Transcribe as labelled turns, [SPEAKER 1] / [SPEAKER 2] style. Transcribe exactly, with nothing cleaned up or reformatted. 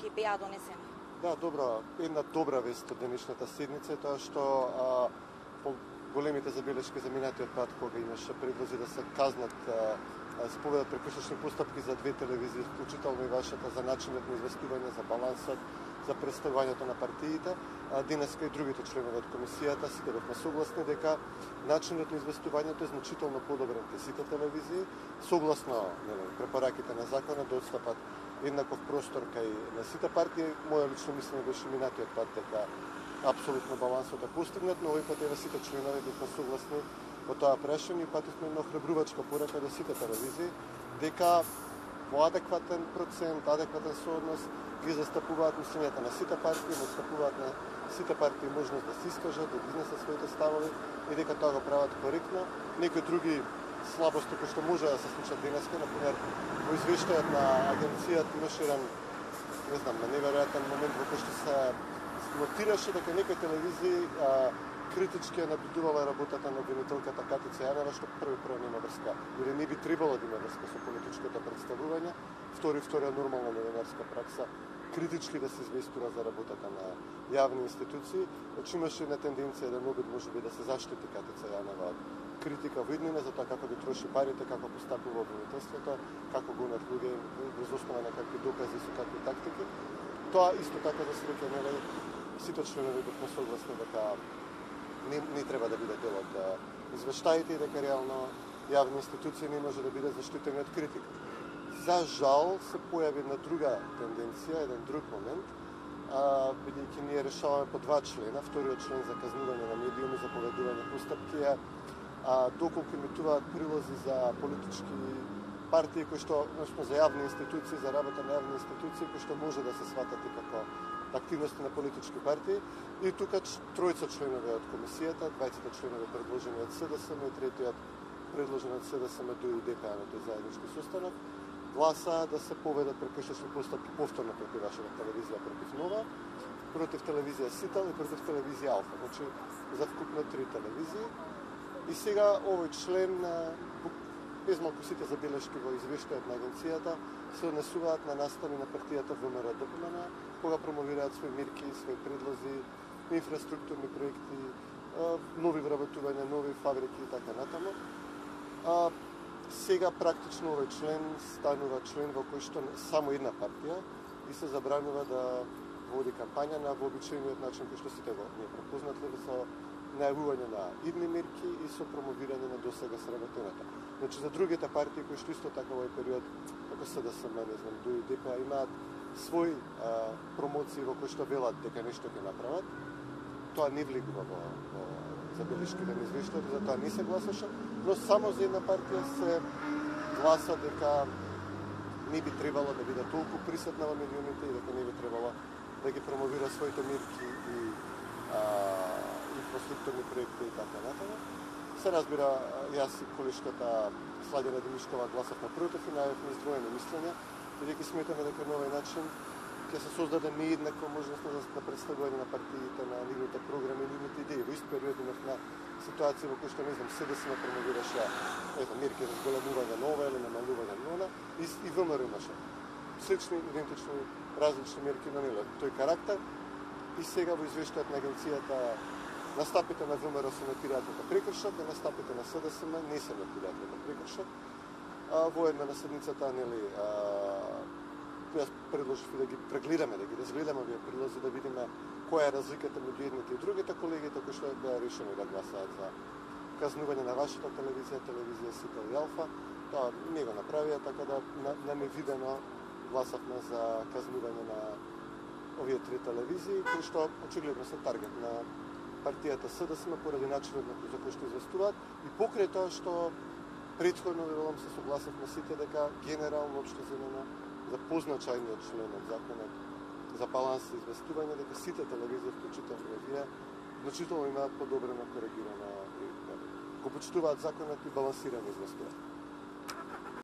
[SPEAKER 1] оставки беа донесени.
[SPEAKER 2] Да, добро. Една добра вест од денешната седница е тоа што а, по големите забелешки за минатиот пат, кога имаше предлози да се казнат а, се поведат прекршечни постапки за две телевизии, вклучително и вашата, за начинот на известување, за балансот, за представувањето на партиите. А денеска и другите членови од комисијата сите бевме согласни дека начинот на известувањето е значително подобрен кај сите телевизии, согласно нели, препораките на законот да отстапат еднаков простор кај на сите партии. Моја лично мислење беше минатиот пат дека апсолутно балансот е постигнат, но овој пат еве сите членови бевме согласни во тоа прашање и пативме една охрабрувачка порака до сите телевизии дека во адекватен процент, адекватен сооднос ги застапуваат мислењата на сите партии, му застапуваат на сите партии можност да се искажат, да изнесат своите ставови и дека тоа го прават коректно. Некои други слабости кои што може да се случат денеска, например, во извештајот на агенцијата имаше еден, не знам, на неверојатен момент во кој што се нотираше дека некои телевизии а, критички ја наблюдувала работата на обвинителката Катица Јанева, што први прво нема врска, или не би требало да има врска со политичкото представување, втори вторија нормална новинарска пракса, критички да се известува за работата на јавни институции, значи имаше една тенденција, еден обид може би да се заштити Катица Јанева од критика во иднина за тоа како ги троши парите, како постапува обвинителството, како гонат луѓе врз основа на какви докази со какви тактики. Тоа исто така за среќа, нели, сите членови бевме согласни дека не, не треба да биде дел од извештаите и дека реално јавни институции не може да биде заштитени од критика. За жал се појави една друга тенденција, еден друг момент, бидејќи ние решаваме по два члена, вториот член за казнување на медиуми, за поведување постапки, а доколку емитуваат прилози за политички партии кои што, значи за јавни институции, за работа на јавни институции кои што може да се сватат и како активности на политички партии. И тука тројца членови од комисијата, двајцата членови предложени од СДСМ и третиот предложен од СДСМ до и ДП на тој заеднички состанок, гласа да се поведат прекршечни постапки повторно против вашата телевизија, против Нова, против телевизија Сител и против телевизија Алфа. Значи, за вкупно три телевизии. И сега овој член, без малку сите забелешки во извештајот на агенцијата, се однесуваат на настани на партијата ВМРО ДПМН, кога промовираат своји мерки, своји предлози, инфраструктурни проекти, нови вработувања, нови фабрики и така натаму. А, сега практично овој член станува член во кој што само една партија и се забранува да води кампања на вообичаениот начин кој што сите го ние препознатливи со најавување на идни мерки и со промовирање на досега сработеното. Значи за другите партии кои што исто така во овој период, како СДСМ, не знам, ДУ и ДП, имаат своји а, промоции во кои што велат дека нешто ќе направат, тоа не влегува во, во забелешките на извештајот, за тоа не се гласаше, но само за една партија се гласа дека не би требало да биде толку присутна во медиумите и дека не би требало да ги промовира своите мерки и а, инфраструктурни проекти и така натаму. Се разбира, јас и колешката Сладена Димишкова гласавме против и најавивме издвоени мислења, бидејќи сметаме дека на овој начин ќе се создаде нееднаква можност на представување на партиите, на нивните програми, нивните идеи. Во ист период имавме ситуација во кој што, не знам, СДСМ промовираше мерки за зголемување нова или намалување нова, и, и ВМРО имаше слични, идентични, различни мерки на нива тој карактер. И сега во извештајот на агенцијата настапите на ВМРО се нотираат како прекршок, а настапите на СДСМ не се нотираат како прекршок. А, во една на седницата, нели, а, јас предложив да ги прегледаме, да ги разгледаме овие прилози, да видиме која е разликата меѓу едните и другите колегите кои што беа решени да гласаат за казнување на вашата телевизија, телевизија Сител и Алфа. Тоа не го направија, така да нам е видено гласавме за казнување на овие три телевизии, кои што очигледно се таргет на партијата СДСМ поради начинот на за кој што известуваат и покрај тоа што претходно велам се согласавме сите дека генерално општо земено за позначајниот член од законот за баланс и известување, дека сите телевизии, вклучително и овие, значително имаат подобрено коригирано, го почитуваат законот и балансирано известуваат.